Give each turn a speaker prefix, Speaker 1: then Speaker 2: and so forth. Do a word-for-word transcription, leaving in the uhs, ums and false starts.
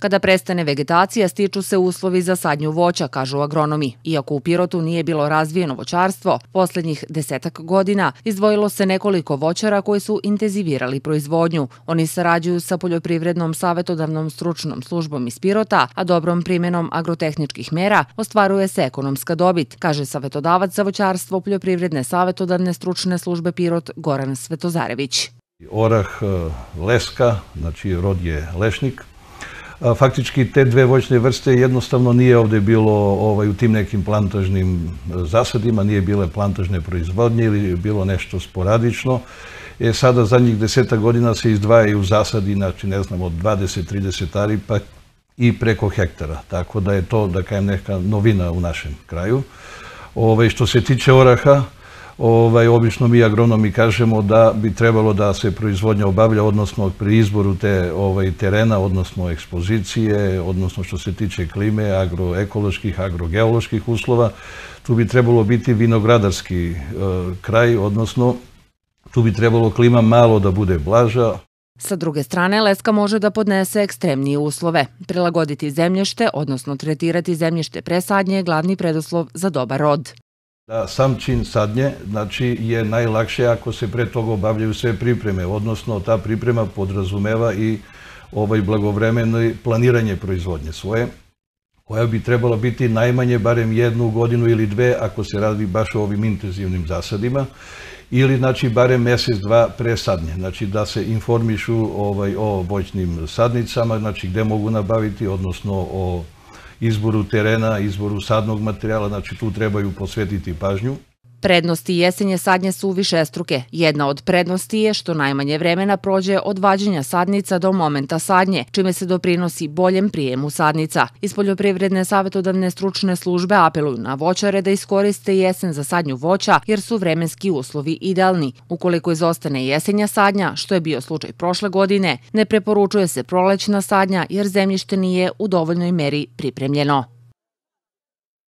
Speaker 1: Kada prestane vegetacija, stiču se uslovi za sadnju voća, kažu agronomi. Iako u Pirotu nije bilo razvijeno voćarstvo, posljednjih desetak godina izdvojilo se nekoliko voćara koji su intenzivirali proizvodnju. Oni sarađuju sa poljoprivrednom savjetodavnom stručnom službom iz Pirota, a dobrom primjenom agrotehničkih mera ostvaruje se ekonomska dobit, kaže savjetodavac za voćarstvo poljoprivredne savjetodavne stručne službe Pirot Goran Svetozarević.
Speaker 2: Orah leska, znači rod je lešnik. Faktički te dve voćne vrste jednostavno nije ovdje bilo ovaj, u tim nekim plantažnim zasadima, nije bile plantažne proizvodnje ili bilo nešto sporadično. E, sada zadnjih deseta godina se izdvajaju zasadi, znači ne znam, od dvadeset do trideset ari pa i preko hektara. Tako da je to, da kažem, neka novina u našem kraju. Ovaj, što se tiče oraha, Ovaj, obično mi agronomi kažemo da bi trebalo da se proizvodnja obavlja, odnosno pri izboru te ovaj, terena, odnosno ekspozicije, odnosno što se tiče klime, agroekoloških, agrogeoloških uslova, tu bi trebalo biti vinogradarski e, kraj, odnosno tu bi trebalo klima malo da bude blaža.
Speaker 1: Sa druge strane, leska može da podnese ekstremnije uslove. Prilagoditi zemljište, odnosno tretirati zemljište pre sadnje je glavni preduslov za dobar rod.
Speaker 2: Da, sam čin sadnje, znači, je najlakše ako se pre toga obavljaju sve pripreme, odnosno ta priprema podrazumeva i ovaj blagovremeno planiranje proizvodnje svoje, koja bi trebala biti najmanje barem jednu godinu ili dve ako se radi baš o ovim intenzivnim zasadima, ili znači barem mjesec, dva pre sadnje, znači da se informišu ovaj, o voćnim sadnicama, znači gde mogu nabaviti, odnosno o izboru terena, izboru sadnog materijala, znači tu trebaju posvetiti pažnju.
Speaker 1: Prednosti jesenje sadnje su višestruke. Jedna od prednosti je što najmanje vremena prođe od vađenja sadnica do momenta sadnje, čime se doprinosi boljem prijemu sadnica. Iz poljoprivredne savjetodavne stručne službe apeluju na voćare da iskoriste jesen za sadnju voća jer su vremenski uslovi idealni. Ukoliko izostane jesenja sadnja, što je bio slučaj prošle godine, ne preporučuje se prolećna sadnja jer zemljište nije u dovoljnoj meri pripremljeno.